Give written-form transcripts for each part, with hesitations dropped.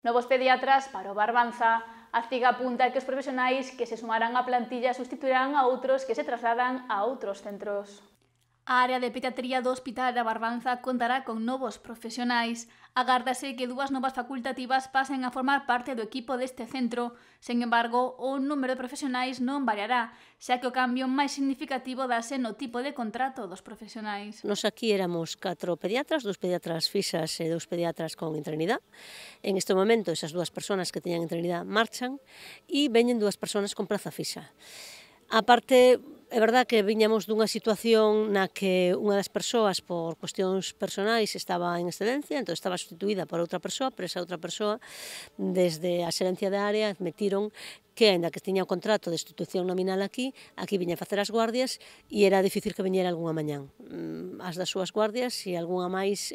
Novos pediatras para o Barbanza. A CIG apunta que os profesionais que se sumarán á plantilla sustituirán a outros que se trasladan a outros centros. A área de pediatría do Hospital da Barbanza contará con novos profesionais. Agárdase que 2 novas facultativas pasen a formar parte do equipo deste centro. Sen embargo, o número de profesionais non variará, xa que o cambio máis significativo dase no tipo de contrato dos profesionais. Nos aquí éramos 4 pediatras, 2 pediatras fixas e 2 pediatras con interinidade. En este momento, esas 2 persoas que teñan interinidade marchan e veñen 2 persoas con praza fixa. A parte, é verdad que viñamos dunha situación na que unha das persoas, por cuestións personais, estaba en excedencia, entón estaba sustituída por outra persoa, pero esa outra persoa, desde a xerencia de área, admitiron que, aínda que tiña o contrato de institución nominal aquí viña a facer as guardias e era difícil que viñera algunha mañán. As das súas guardias e algunha máis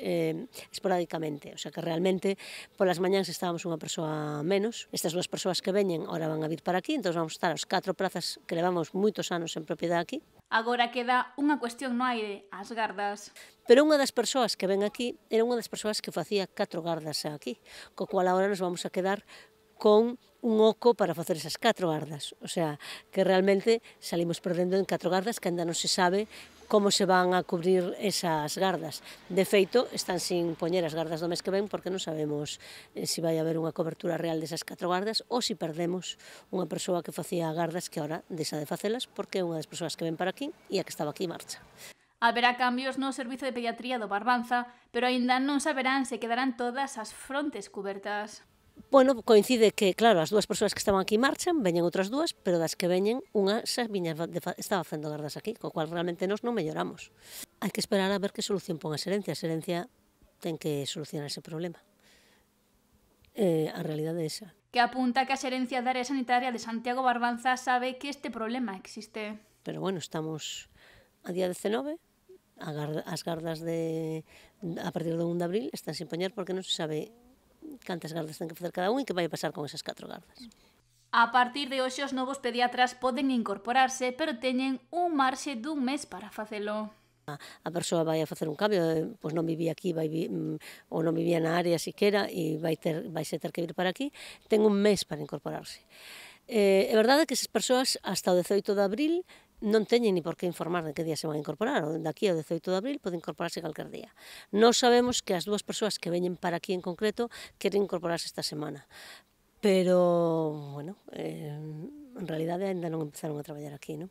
esporádicamente, o sea que realmente polas mañáns estábamos unha persoa menos. Estas 2 persoas que veñen ahora van a vir para aquí, entón vamos estar as 4 prazas que levamos moitos anos en propiedade aquí. Agora queda unha cuestión no aire, as gardas. Pero unha das persoas que ven aquí era unha das persoas que facía 4 gardas aquí, co cual agora nos vamos a quedar con un oco para facer esas 4 gardas. O sea, que realmente salimos perdendo en 4 gardas que ainda non se sabe como se van a cubrir esas gardas. De feito, están sin poñer as gardas do mes que ven porque non sabemos se vai haber unha cobertura real desas 4 gardas ou se perdemos unha persoa que facía gardas que ahora deixa de facelas porque é unha das persoas que ven para aquí e a que estaba aquí marcha. Haberá cambios no servizo de pediatría do Barbanza, pero aínda non saberán se quedarán todas as frontes cubertas. Bueno, coincide que, claro, as 2 persoas que estaban aquí marchan, veñen outras 2, pero das que veñen, unha xa estaba facendo gardas aquí, co cual realmente nos non melloramos. Hai que esperar a ver que solución pon a xerencia ten que solucionar ese problema. A realidade é esa. Que apunta que a xerencia da área sanitaria de Santiago Barbanza sabe que este problema existe. Pero bueno, estamos a día 19, as gardas a partir do 1 de abril están sin poñer porque non se sabe cantas gardas ten que facer cada un e que vai pasar con esas 4 gardas. A partir de hoxe os novos pediatras poden incorporarse, pero teñen un marxe dun mes para facelo. A persoa vai a facer un cambio, pois non vivía aquí ou non vivía na área siquera e vaise ter que vir para aquí, ten un mes para incorporarse. É verdade que esas persoas hasta o 18 de abril non teñen ni por que informar de que día se van a incorporar, ou daqui ao 18 de abril pode incorporarse calquer día. Nós sabemos que as 2 persoas que veñen para aquí en concreto queren incorporarse esta semana, pero, bueno, en realidade ainda non empezaron a traballar aquí, non?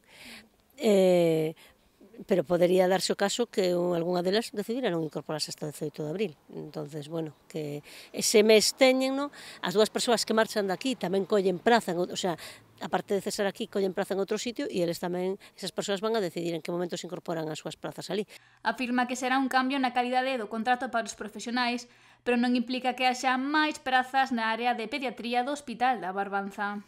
Pero podería darse o caso que algunha delas decidira non incorporarse hasta o 18 de abril. Entonces, bueno, que ese mes teñen, no? As 2 persoas que marchan daqui tamén collen praza, o sea, aparte de cesar aquí, collen praza en outro sitio e eles tamén, esas persoas van a decidir en que momento se incorporan as súas prazas ali. Afirma que será un cambio na calidade do contrato para os profesionais, pero non implica que haxa máis prazas na área de pediatría do Hospital da Barbanza.